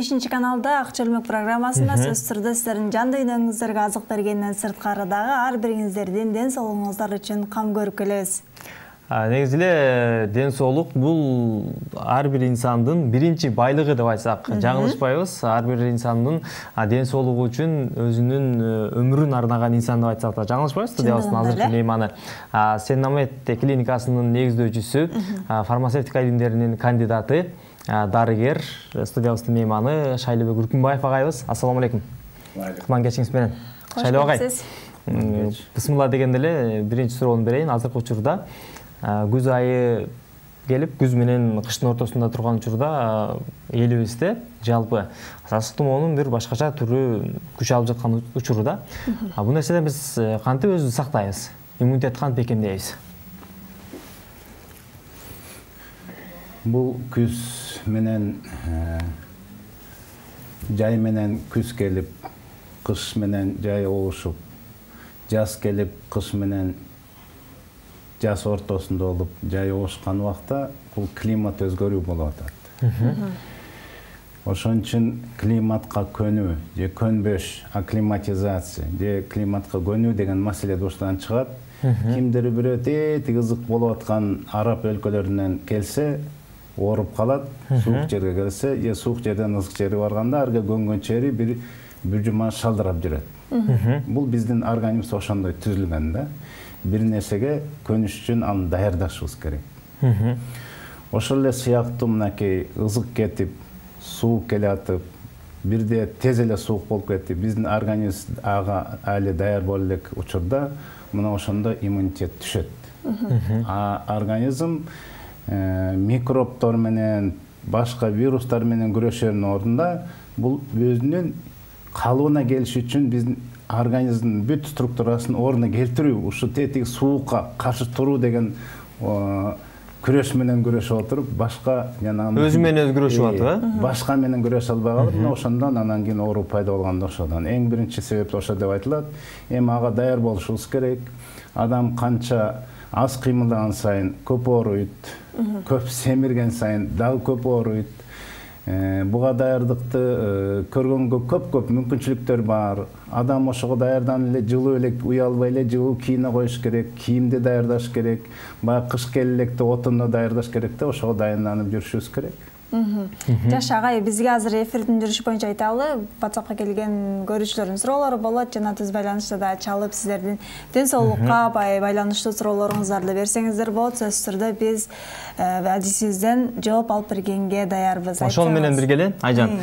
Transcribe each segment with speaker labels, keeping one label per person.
Speaker 1: 5 каналда Акча Өлмөк программасында сөз түрдө сиздердин жан дүйнөңүздөргө азык бергенден сырткары дагы ар бириңиздердин ден соолугуңуздар үчүн кам көрүп келебиз.
Speaker 2: Негизи эле ден соолук бул ар бир инсандын биринчи байлыгы деп айтсак жаңылышпайбыз. Ар бир инсандын ден соолугу үчүн өзүнүн өмүрүн арнаган инсан деп айтсак да жаңылышпайбыз. Студиябыздын азыркы мейманы Сеннамет клиникасынын негиздөөчүсү, фармацевтика илимдеринин кандидаты, дарыгер, студиябыздын мейманы Шайлообек Үркүнбаев агайыбыз. Ассаламу алейкум. Кутман кечиңиз менен. Шайлоо агай. Бисмилла дегенде эле биринчи суроону берейин. Азыркы учурда күз айы келип, күз менен кыштын ортосунда турган учурда элибизде жалпы сасык тумоонун бир башкача түрү күч алып жаткан учурда. Бул нерседен биз кантип өзүбүздү сактайбыз? Иммунитет кантип бекемдейбиз?
Speaker 3: Бул күз менен жай менен күз келип, кыш менен жай оошуп, жаз келип, кыш менен жаз ортосунда болуп, жай оошкан убакта бул климат өзгөрүү болуп атат. Ошон үчүн климатка көнүү же көнбөш, акклиматизация же климатка көнүү деген маселе ушудан чыгат. Кимдир бирөө тети кызык болуп аткан араб өлкөлөрүнөн келсе, ооруп калат, суук жерге келсе, же суук жерден ысык жерге барганда арга көнгөн чери бир жума шалдырап жүрөт. Бул биздин организм ошондой түзүлгөн да. Бир нерсеге көнүш үчүн аны даярдашыбыз керек. Ошол эле сыяктуу мынакей ызык кетип, суук келе атып, бирде тез эле суук болуп кетип, биздин организм ага али даяр боло элек учурда мына ошондо иммунитет түшөт. Организм микробтор менен, башка вирустар менен күрөшөрүнүн ордунда бул өзүнүн калыбына келиш үчүн биздин организмдин бүт структурасын ордуна келтирүү, ушу тетиги суукка каршы туруу деген күрөш менен күрөшүп отуруп, башка жанагы
Speaker 2: өзү менен өзү күрөшүп атып,
Speaker 3: башка менен күрөшө албай калып, мына ошондон анан кийин оору пайда болгондо ошодон. Эң биринчи себеп ошо деп айтылат. Эми ага даяр болушубуз керек. Адам канча аз кыймылдаган сайын көп ооруйт, көп семирген сайын дагы көп ооруйт. Буга даярдыкты көргөнгө көп мүмкүнчүлүктөр бар. Адам ошого даярданып эле жылуу эле уялбай эле жылуу кийине коюш керек, кийимди даярдаш керек, баягы кыш келе электе отунду даярдаш керек да, ошого даянданып жүрүшүбүз керек.
Speaker 1: Жаш агай, бизге азыр эфирдин жүрүшү боюнча айталы, WhatsAppка келген көрүүчүлөрдүн суроолору болот, жана түз байланышта да чалып сиздердин ден соолукка байланыштуу суроолоруңуздарды берсеңиздер болот. Сөз түрдө биз адисибизден жооп алып бергенге даярбыз.
Speaker 2: Ошол менен бирге эле Айжан,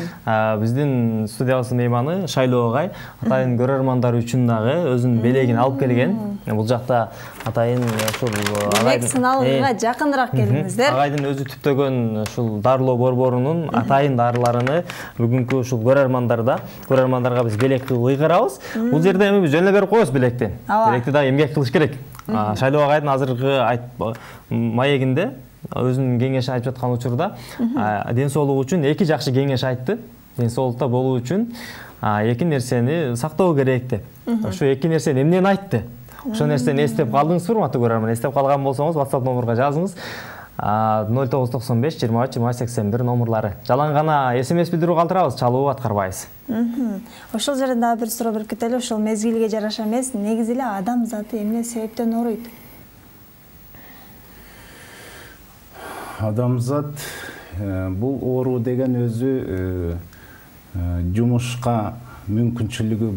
Speaker 2: биздин студиябыздын мейманы Шайлоо агай атайын көрөрмандар үчүн дагы өзүнүн белегин алып келген. Бул жакта атайын ушул
Speaker 1: агайдын сыналгыга жакыныраак келиңиздер.
Speaker 2: Агайдын өзү түптөгөн ушул дарылоо борборунун атайын дарыларыны бүгүнкү ушул көрөрмандарга биз белек кылып ыйгарабыз. Бул жерде эми биз жөн эле берип коебуз белекти. Белекти дагы эмгек кылыш керек. Шайлоо агайдын азыркы маегинде өзүнүн кеңешин айтып жаткан учурда ден соолугу үчүн эки жакшы кеңеш айтты. Ден соолукта болуу үчүн эки нерсени сактоо керек деп. Ошо эки нерсени эмнени айтты? Ошол нерсени эстеп калдыңызбы, урматтуу көрөрман? Эстеп калган болсоңуз WhatsApp номурга жазыңыз. 0995 23 20 81 номурлары. Жалаң гана SMS билдирүү калтырабыз, чалуу аткарбайбыз.
Speaker 1: Ошол жерден дагы бир суроо берип кетели. Ошол мезгилге жараша эмес, негизи эле адам заты эмне себептен ооруйт?
Speaker 3: Адамзат бул оору деген өзү жумушка мүмкүнчүлүгү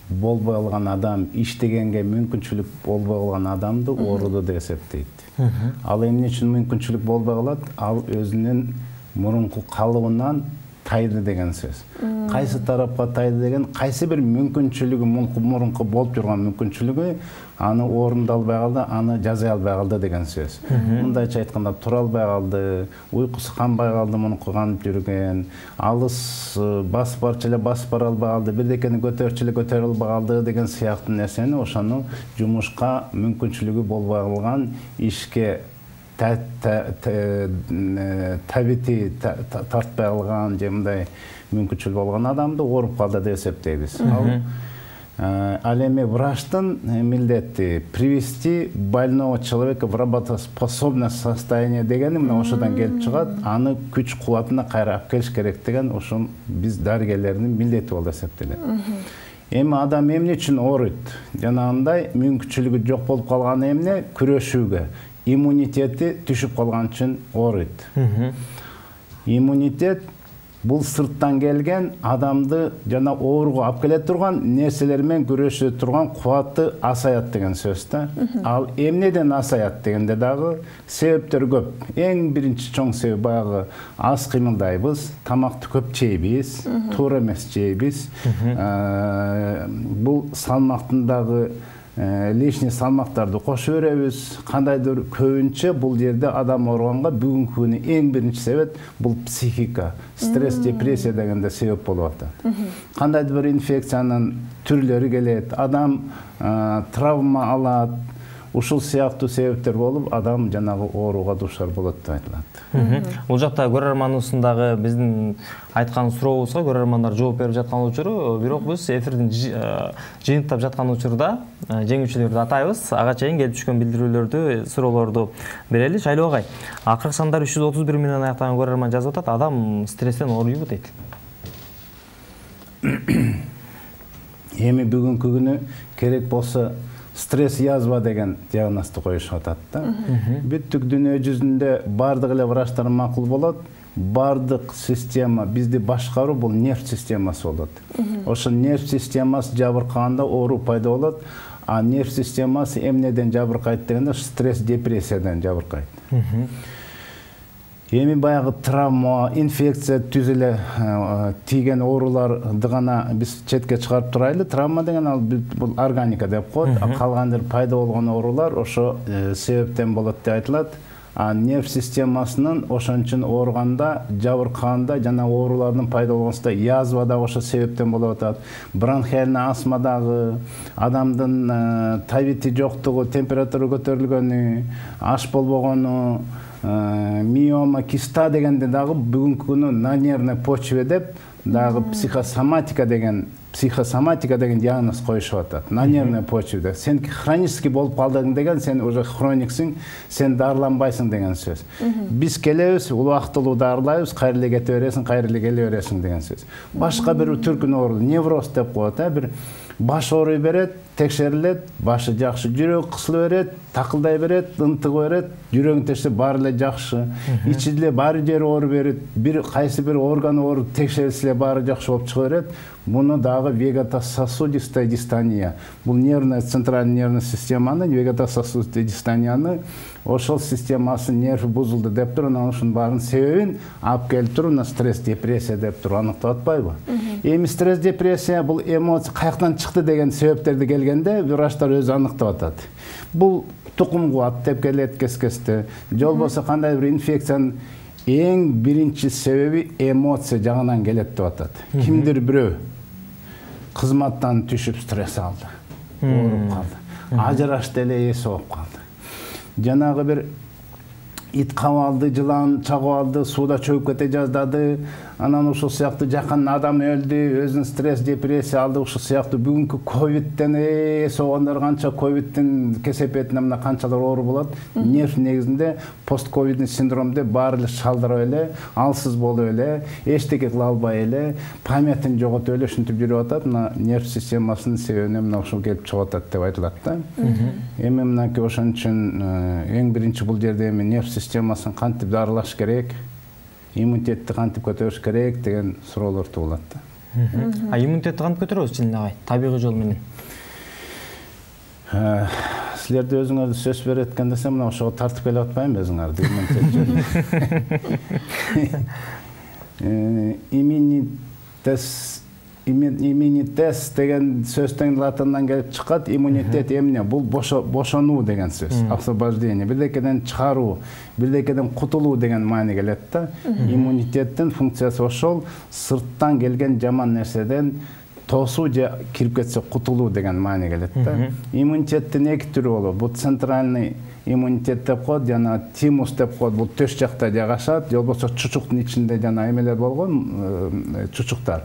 Speaker 3: болбой калган адам, иштегенге мүмкүнчүлүк болбой калган адамды ооруду деп эсептейт. Ал эмне үчүн мүмкүнчүлүк болбой калат? Ал өзүнүн мурунку калыбынан тайды деген сөз. Кайсы тарапка тайды деген, кайсы бир мүмкүнчүлүгү, мурунку болуп жүргөн мүмкүнчүлүгү аны орундалбай калды, аны жаза албай калды деген сөз. Мындайча айтканда, тура албай калды, уйкусу канбай калды, мунуку канып жүргөн, алыс басып барчу эле басып бара албай калды, бирдекени көтөрчү эле көтөрө албай калды деген сыяктуу нерсени ошону жумушка мүмкүнчүлүгү болбой калган, ишке табити тартпай калган же мындай мүмкүнчүлүк болгон адамды ооруп калды деп эсептейбиз. Ал Ал эми врачтын милдети привести больного человека в работоспособное состояние дегени мына ошодон келип чыгат. Аны күч кубатына кайра алып келиш керек деген ошол биз дарыгерлердин милдети болуп эсептелет. Эми адам эмне үчүн ооруйт? Жанагындай мүмкүнчүлүгү жок болуп калган эмне күрөшүүгө, иммунитети түшүп калган үчүн ооруйт. Иммунитет бул сырттан келген адамды жана ооруга алып келе турган нерселер менен күрөшө турган кубаты асаят деген сөз да. Ал эмнеден асаят дегенде дагы себептер көп. Эң биринчи чоң себеп баягы аз кыймылдайбыз, тамакты көп жейбиз, туура эмес жейбиз. Бул салмактын дагы лишний салмактарды кошо беребиз. Кандайдыр көбүнчө бул жерде адам ооруганга бүгүнкү күнү эң биринчи себеп бул психика, стресс, депрессия дегенде себеп болуп атат. Кандайдыр бир инфекциянын түрлөрү келет, адам травма алат. Ушул сыяктуу себептер болуп адам жанагы ооруга дуушар болот деп айтылат.
Speaker 2: Бул жакта көрөрманыбыздагы биздин айткан сурообузга көрөрмандар жооп берип жаткан учуру, бирок биз эфирдин жыйынтыктап жаткан учурда жеңүүчүлөрдү атайбыз. Ага чейин келип түшкөн билдирүүлөрдү, суроолорду берели. Шайлоо агай, акыркы сандар 331 менен аяктаган көрөрман жазып атат. Адам стресстен ооруйбу дейт.
Speaker 3: Эми бүгүнкү күнү керек болсо стресс язва деген диагнозду коюшуп атат да. Бүттүк дүйнө жүзүндө бардык эле врачтар макул болот. Бардык система бизди башкаруу бул нерв системасы болот. Ошо нерв системасы жабыркаганда оору пайда болот. А нерв системасы эмнеден жабыркайт дегенде стресс, депрессиядан жабыркайт. Эми баягы травма, инфекция түзүлө тийген ооруларды гана биз четке чыгарып турайлы. Травма деген ал бул органика деп коет. Калгандыр пайда болгон оорулар ошо себептен болот деп айтылат. А нерв системасынын ошон үчүн ооруганда, жабыркаганда жана оорулардын пайда болгонусунда язва дагы ошо себептен болуп атат. Бронхиальный астма дагы, адамдын табити жоктугу, температура көтөрүлгөнү, аш болбогону, миома, киста дегенде дагы бүгүнкү күнү на нервной почве деп дагы психосоматика деген диагноз коюшуп атат. На нервной почведе. Сен хронический болуп калдың деген, сен уже хрониксиң, сен дарыланбайсың деген сөз. Биз келебиз, убактылуу дарылайбыз, кайра эле кете бересиң, кайра эле келе бересиң деген сөз. Башка бир түркүн оору, невроз деп коет, бир баш ооруй берет, текшерилет, башы жакшы, жүрөк кысыла берет, такылдай берет, ынтыга берет, жүрөгүн текшерсе баары эле жакшы. Ичиде баары жери ооруп берет, бир кайсы бир орган ооруп текшерилсе баары жакшы болуп чыга берет. Муну дагы вегетососудистая дистония. Бул нервная центральный нервный системаны, вегетососудистая дистонияны ошол системасы нерв бузулду деп туруп, анан ушунун баарын себебин алып келип туруп, стресс, депрессия деп туруп аныктап атпайбы? Эми стресс, депрессия бул эмоция каяктан чыкты деген себептерди келгенде врачтар өзү аныктап атат. Бул тукум кубат деп келет кескесте. Же болбосо кандайдыр бир инфекциянын эң биринчи себеби эмоция жагынан келет деп атат. Кимдир бирөө кызматтан түшүп стресс алды, ооруп калды, ажырашты эле эси болуп калды. Жанагы бир ит кабалды, жылан чагып алды, сууда чөгүп кете жаздады, анан ушул сыяктуу жакын адам өлдү, өзүнүн стресс, депрессия алды, ушул сыяктуу бүгүнкү ковидтен согондор канча ковидтин кесепетине мына канчалар оору болот. Нерв негизинде постковидный синдром деп баары эле шалдырап эле, алсыз болуп эле, эчтеке кыла албай эле, памятын жоготуп эле ушинтип жүрүп атат. Мына нерв системасынын себебине мына ушул келип чыгып атат деп айтылат да. Эми мынакей ошон үчүн эң биринчи бул жерде эми нерв системасын кантип дарылаш керек, иммунитетти кантип көтөрүш керек деген суроолор туулат да.
Speaker 2: Иммунитетти кантип көтөрөбүз Чилин агай, табигый жол менен?
Speaker 3: Силерди өзүңөрдү сөз берет экен десем, мына ошого тартып келип атпайбы өзүңөрдү иммунитет деген сөздөн латындан келип чыккат. Иммунитет эмне? Бул бошонуу деген сөз. Освобождение, бирдекеден чыгаруу, бирдекеден кутулуу деген маани келет да. Иммунитеттин функциясы ошол, сырттан келген жаман нерседен тосуу же кирип кетсе кутулуу деген маани келет да. Иммунитеттин эки түрү болот. Бул центральный иммунитет деп коет, жана тимус деп коет. Бул төш жакта жайгашат, же болбосо чучуктун ичинде жана эмелер болгон, чучуктар.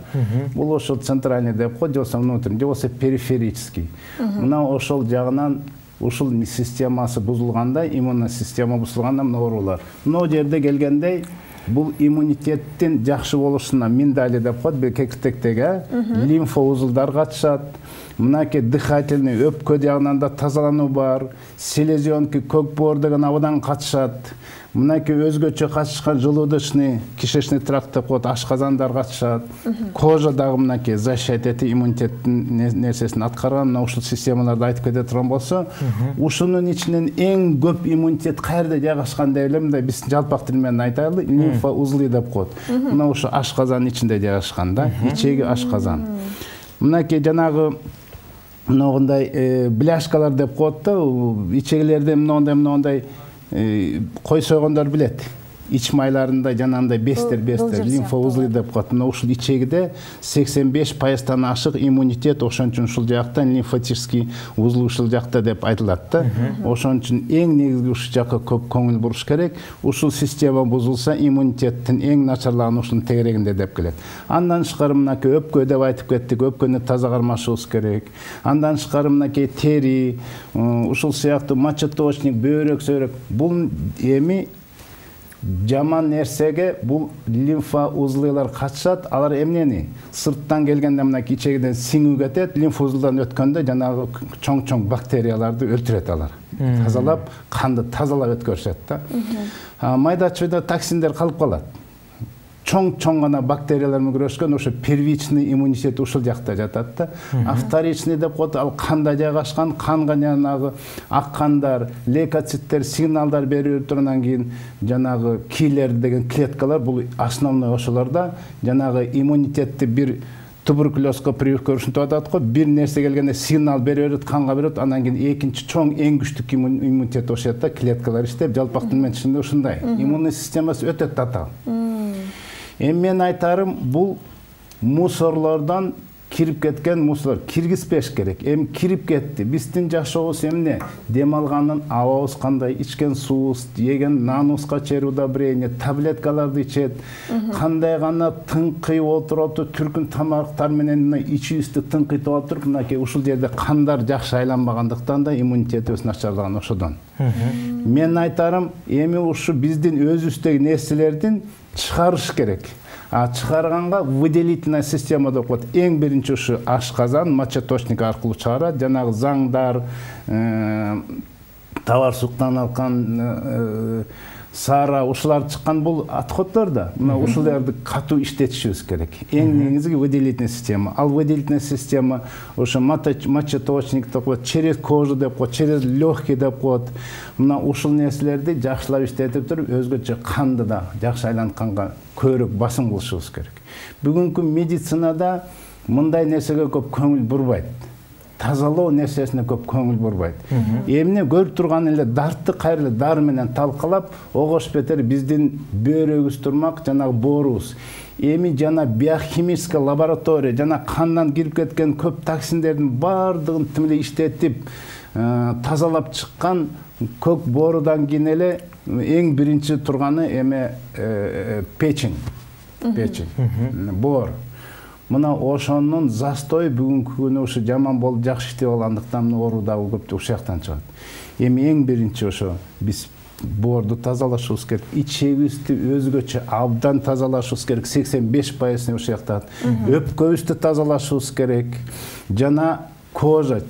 Speaker 3: Бул ошол центральный деп коет, же болбосо внутренний, же болбосо периферический. Мына ошол жагынан ушул системасы бузулганда, иммунный система бузулганда мына оорулар. Мына жерде келгендей, бул иммунитеттин жакшы болушуна миндали деп коет, бул кекиртектеги лимфа узулдар катышат. Мынакей дыхательный өпкө жагынан да тазалануу бар. Селезенки, көк боор деген абыдан катышат. Мынакей өзгөчө катышкан желудочный, кишечный тракт деп коет, ашказандар катышат. Кожа дагы мынакей защищать этип иммунитеттин нерсесин аткарган. Мына ушул системаларды айтып кете турган болсо, ушунун ичинен эң көп иммунитет каерде жайгашкан деп эле мындай биз жалпак тил менен айтайлы, лимфа узлы деп коет. Мына ушу ашказан ичинде жайгашкан да, ичеги ашказан. Мынакей жанагы мындай бляшкалар деп коет да, ичегилерде мындай кой сойгондор билет. Ич майларында жанагындай бестер лимфа узлы деп коет. Мына ушул ичегиде 85%-тан ашык иммунитет, ошон үчүн ушул жактан лимфатический узлы ушул жакта деп айтылат да. Ошон үчүн эң негизги ушул жакка көп көңүл буруш керек. Ушул система бузулса, иммунитеттин эң начарлаган ушунун тегерегинде деп келет. Андан тышкары мынакей өпкө деп айтып кеттик, өпкөнү таза кармашыбыз керек. Андан тышкары мынакей тери, ушул сыяктуу мочеточник, бөйрөк, сөйрөк. Бул эми жаман нерсеге бул лимфа узлылар катышат. Алар эмнени сырттан келгенде мынакей ичегиден сиңүү кетет, лимфа узлудан өткөндө жанагы чоң бактерияларды өлтүрөт алар. Тазалап, канды тазалап өткөрүшөт да. Майда-чүйдө токсиндер калып калат. Чоң гана бактериялар менен күрөшкөн ошо первичный иммунитет ушул жакта жатат да. А вторичный деп коет, ал канда жайгашкан, канга жанагы ак кандар, лейкоциттер сигналдар берип тургандан кийин жанагы килер деген клеткалар, бул основной ошолорда жанагы иммунитетти бир туберкулезга прививка ушинтип атат го, бир нерсе келгенде сигнал берет, канга берет, андан кийин экинчи чоң эң күчтүү иммунитет ошол да, клеткалар иштеп, жалпак тил менен түшүндө ушундай. Иммунный системасы өтө татаал. Эми мен айтарым, бул мусорлордон кирип кеткен мусор киргизбеш керек. Эми кирип кетти. Биздин жашообуз эмне? Дем алганын абабыз кандай, ичкен суубуз, жеген наныбызга чейин удобрение, таблеткаларды ичет. Кандай гана тыңкыйып отуруп, түркүн тамактар менен ичибизди тыңкыйтып отуруп, мынакей ушул жерде кандар жакшы айланбагандыктан да иммунитетибиз начарлаган ошодон. Мен айтарым, эми ушу биздин өзүбүздөгү нерселердин чыгарыш керек. А чыгарганга выделительная система деп коет. Эң биринчи ушу ашказан, мочеточник аркылуу чыгарат. Жанагы заңдар, товар суктан алган сара ушулар чыккан бул отходдор да. Мына ушуларды катуу иштетишибиз керек. Эң негизги выделительная система. Ал выделительная система ошо мочеточник деп коет, через кожу деп коет, через легкий деп коет. Мына ушул нерселерди жакшылап иштетип туруп, өзгөчө канды да жакшы айлантканга көбүрөөк басым кылышыбыз керек. Бүгүнкү медицинада мындай нерсеге көп көңүл бурбайт. Тазалоо нерсесине көп көңүл бурбайт. Эмне көрүп турган эле дартты кайрылы дары менен талкалап, огош бетер биздин бөйрөгүбүз турмак, жанагы боорубуз. Эми жана биохимический лаборатория, жана кандан кирип кеткен көп токсиндердин баардыгын тимиле иштетип, тазалап чыккан көк боорудан кийин эле эң биринчи турганы эме печень. Боор. Мына ошонун застой бүгүнкү күнү ушу жаман болуп жакшы иштеп алгандыктан оору дагы көп ушул жактан чыгат. Эми эң биринчи ошо биз боорду тазалашыбыз керек, ичегибизди өзгөчө абдан тазалашыбыз керек, 85% ушул жакта. Өпкөбүздү тазалашыбыз керек. Жана кожа,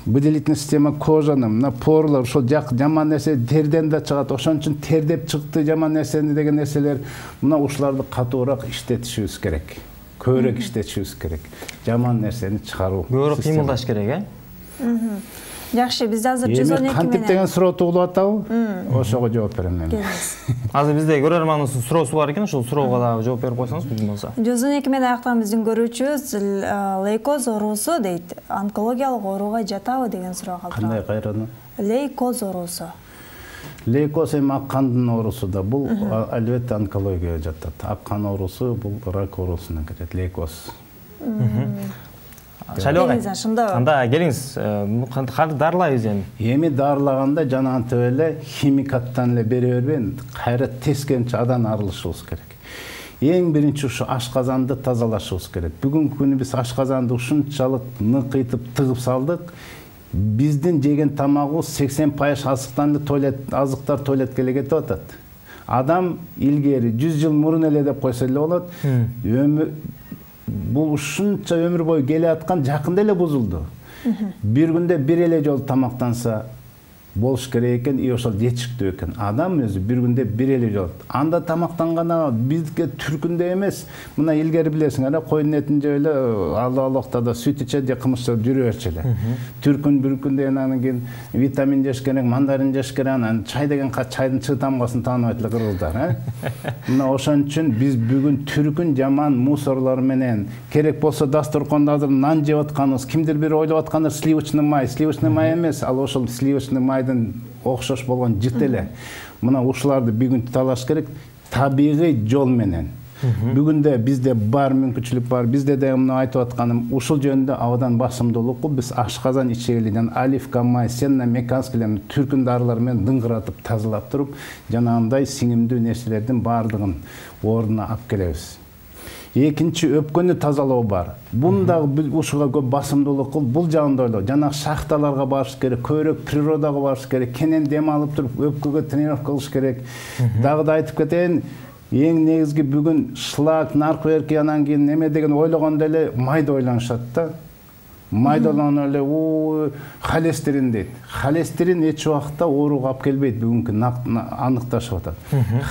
Speaker 3: выделительная система кожаны, мына порлар, ошол жаман нерсе терден да чыгат. Ошон үчүн тердеп чыкты жаман нерсени деген нерселер, мына ушуларды катуураак иштетишибиз керек. Көбүрөөк иштетишибиз керек. Жаман нерсени чыгаруу.
Speaker 2: Көбүрөөк кыймылдаш керек,
Speaker 1: Жакшы, биз азыр 112 менен.
Speaker 3: Кантип деген суроо туулуп атабы? Ошого жооп берем мен.
Speaker 2: Азыр бизде көрөрманыбыздын суроосу бар экен, ошол суроого дагы жооп берип койсоңуз мүмкүн болсо.
Speaker 1: 112 менен аяктаган биздин көрүүчүбүз лейкоз оорусу дейт. Онкологиялык ооруга жатабы деген суроо калтырган.
Speaker 3: Кандай кайраны?
Speaker 1: Лейкоз оорусу.
Speaker 3: Лейкоз эми ак кандын оорусу да, бул албетте онкологияга жатат. Ак кан оорусу бул рак оорусуна кирет, лейкоз.
Speaker 2: Шайлоо агай.
Speaker 1: Ошондо.
Speaker 2: Анда келиңиз, кантип дарылайбыз эми?
Speaker 3: Эми дарылаганда жанагынтип эле химикаттан эле бере бербейин, кайра тескенче адан арылышыбыз керек. Эң биринчи ушу ашказанды тазалашыбыз керек. Бүгүнкү күнү биз ашказанды ушунчалык ныкыйтып тыгып салдык. Биздин жеген тамагыбыз 80% азыктар туалетке эле кетип атат. Адам илгери 100 жыл мурун эле деп койсо эле болот. Бул ушунча өмүр бою келе аткан жакында эле бузулду. Бир күндө бир эле жолу тамактанса болуш керек экен, и ошол жетиштүү экен. Адам өзү бир күндө бир эле жолу. Анда тамактанганда бизге түркүндө эмес, мына илгери билесиң, койдун этин жеп эле, алоктада сүт ичет же кымыз жүрө берчү эле. Түркүн бир күндө анан кийин витамин жеш керек, мандарин жеш керек, анан чай деген чайдын чыы тамгасын тааныбайт эле кыргыздар, Мына ошон үчүн биз бүгүн түркүн жаман мусорлор менен керек болсо дасторкондо азыр нан жеп атканыбыз, кимдир бир ойлоп аткандар сливочный май эмес, ал ошол сливочный май окшош болгон жыт эле. Мына ушуларды бүгүн талаш керек табигый жол менен. Бүгүндө бизде бар мүмкүнчүлүк бар. Бизде да мына айтып атканым ушул жөнүндө абдан басымдуулукку биз ашказан ичегилинен оливка май, сенна меканскилерин түркүн дарылар менен дыңгыратып тазалап туруп, жанагындай сиңимдүү нерселердин баардыгын ордуна алып келебиз. Экинчи өпкөнү тазалоо бар. Бундагы ушуга көп басымдуулук кылып, бул жагында ойлоо. Жанагы шахталарга барыш керек, көбүрөөк природага барыш керек, кенен дем алып туруп өпкөгө тренировка кылыш керек. Дагы да айтып кетейин, эң негизги бүгүн шлак, нарковерки анан кийин неме деген ойлогондо эле майды ойлонушат да. Майды ойлонгондо эле холестерин дейт. Холестерин эч убакта ооруга алып келбейт, бүгүнкү аныкташып атат.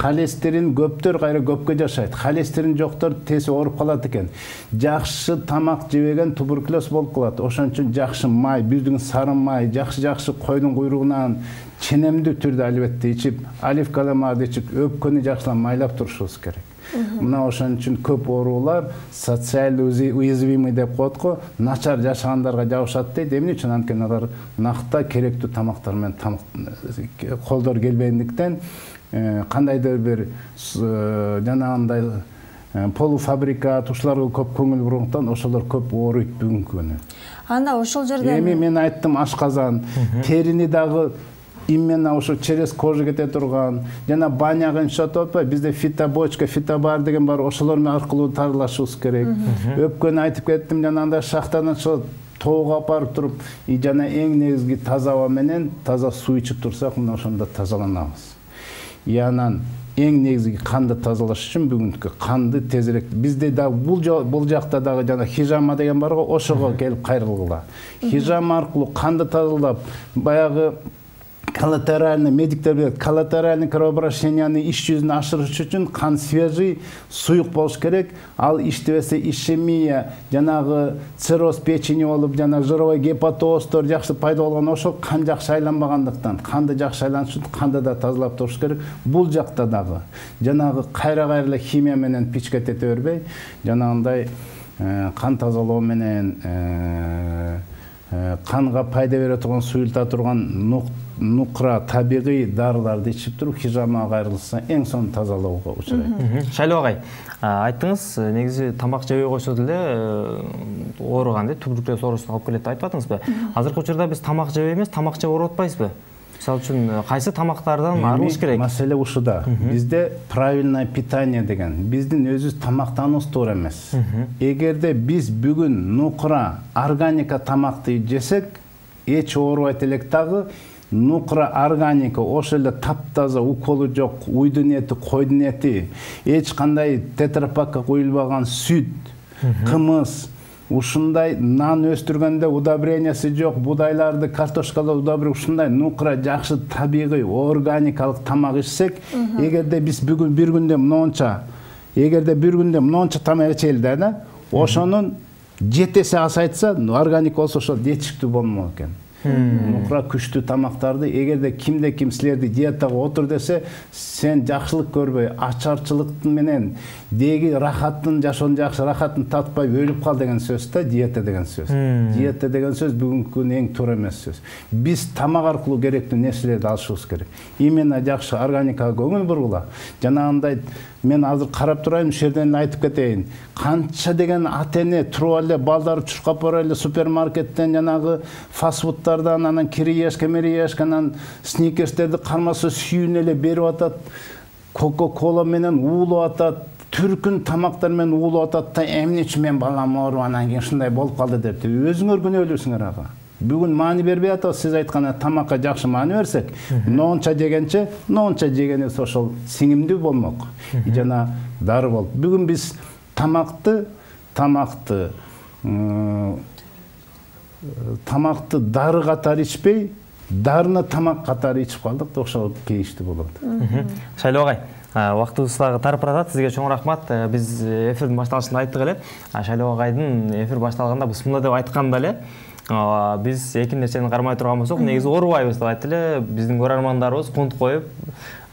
Speaker 3: Холестерин көптөр кайра көпкө жашайт. Холестерин жоктор тез ооруп калат экен. Жакшы тамак жебеген туберкулез болуп калат. Ошон үчүн жакшы май, биздин сары май, жакшы койдун куйругунан ченемдүү түрдө албетте ичип, оливка майды ичип, өпкөнү жакшылап майлап турушубуз керек. Мына ошон үчүн көп оорулар социалдуу уязвимый деп коет го, начар жашагандарга жабышат дейт. Эмне үчүн? Анткени алар накта керектүү тамактар менен колдор келбегендиктен кандайдыр бир жанагындай полуфабрикат ушуларга көп көңүл бургандыктан ошолор көп ооруйт бүгүнкү күнү.
Speaker 1: Анда ошол жерде
Speaker 3: эми мен айттым ашказан, терини дагы именно ошо через кожу кете турган, жана баняга иншаат атпайбы, бизде фитобочка, фитобар деген бар, ошолор аркылуу тарылашыбыз керек. Өпкөнү айтып кеттим, жанагындай шахтадан чыгып тоого апарып туруп, жана эң негизги таза аба менен таза суу ичип турсак, мына ошондо тазаланабыз. Анан эң негизги канды тазалаш үчүн бүгүнкү канды тезирээк бизде да бул жакта дагы жана хижама деген бар го, ошого келип кайрылгыла. Хижама аркылуу канды тазалап, баягы коллатеральный, медиктер билет, коллатеральный кровообращенияны иш жүзүнө ашырыш үчүн кан свежий, суюк болуш керек. Ал иштебесе ишемия, жанагы цирроз печени болуп, жана жировой гепатоздор жакшы пайда болгон, ошол кан жакшы айланбагандыктан, канды жакшы айланыш үчүн канды да тазалап туруш керек. Бул жакта дагы жанагы кайра эле химия менен пичке тете бербей, жанагындай кан тазалоо менен канга пайда бере турган, суюлта турган нукра табигый дарыларды ичип туруп хижамага кайрылса эң сонун тазалоого учурайт.
Speaker 2: Шайлоо агай, айттыңыз, негизи тамак жебей койсо деле ооруган деп туберкулез оорусуна алып келет деп айтып атыңызбы? Азыркы учурда биз тамак жебей эмес, тамак жеп ооруп атпайбызбы? Мисалы үчүн кайсы тамактардан арылыш керек?
Speaker 3: Маселе ушуда. Бизде правильное питание деген, биздин өзүбүз тамактануубуз туура эмес. Эгерде биз бүгүн нукра, органика тамакты жесек, эч оорубайт элек дагы. Нукра органика ошол эле таптаза, уколу жок, уйдун эти, койдун эти, эч кандай тетрапакка куюлбаган сүт, кымыз, ушундай нан өстүргөндө удобрениясы жок, будайларды, картошкаларды удобрение, ушундай нукра жакшы табигый, органикалык тамак ичсек, эгерде биз бүгүн бир күндө монча тамак ичели да, ошонун жетеси асайтса, органика болсо ошол жетиштүү болмок экен. нукра күчтүү тамактарды эгерде ким силерди диетага отур десе, сен жакшылык көрбөй, ачарчылык менен деги рахаттын жашоонун жакшы рахатын татпай өлүп кал деген сөз да диета деген сөз. Диета деген сөз бүгүнкү эң туура эмес сөз. Биз тамак аркылуу керектүү нерселерди алышыбыз керек. Именно жакшы органикага көңүл бургула. Жанагындай мен азыр карап турайын, ушул жерден айтып кетейин. Канча деген ата-эне туруп эле балдары чуркап бара эле супермаркеттен жанагы фастфудтардан, анан кириешке, мериешканан сникерстерди кармаса сүйүн эле берип атат. Кока-кола менен уулап атат. Түркүн тамактар менен уулап атат да, эмне үчүн мен балам ооруп анан кийин ушундай болуп калды деп. Өзүңөр күнөөлүүсүңөр ага. Бүгүн маани бербей атабыз, сиз айткан тамакка жакшы маани берсек, ноонча жегенче, ноонча жегенибиз ошол сиңимдүү болмок. Жана дары болуп. Бүгүн биз тамакты дары катары ичпей, дарыны тамак катары ичип калдык да, ошол кейиштүү болот.
Speaker 2: Шайлоо агай, убактыбыз дагы тарып баратат. Сизге чоң рахмат. Биз эфирдин башталышында айттык эле. Шайлоо агайдын эфир башталганда бусмунда деп айтканда эле, биз эки нерсени кармай турган болсок, негизи оорубайбыз деп айтты эле. Биздин көрөрмандарыбыз кунт коюп,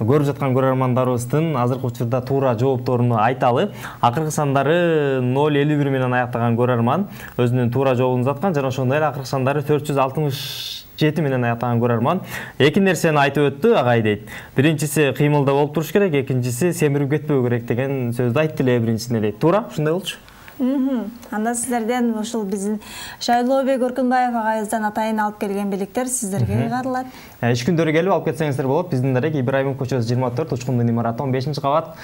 Speaker 2: көрүп жаткан көрөрмандарыбыздын азыркы учурда туура жоопторуну айталы. Акыркы сандары 051 менен аяктаган көрөрман өзүнүн туура жообун узаткан, жана ошондой эле акыркы сандары 467 менен аяктаган көрөрман эки нерсени айтып өттү. Агай дейт, биринчиси кыймылда болуп туруш керек, экинчиси семирип кетпөө керек деген сөздү айтты эле биринчисине дейт. Туура, ушундай болчу.
Speaker 1: Анда сиздерден ушул биздин Шайлообек Өркүнбаев агайыбыздан атайын алып келген белектер сиздерге кайрылат.
Speaker 2: Иш күндөрү келип алып кетсеңиздер болот. Биздин дарек Ибраимов көчөсү 24, Учкундун имараты 15-кабат.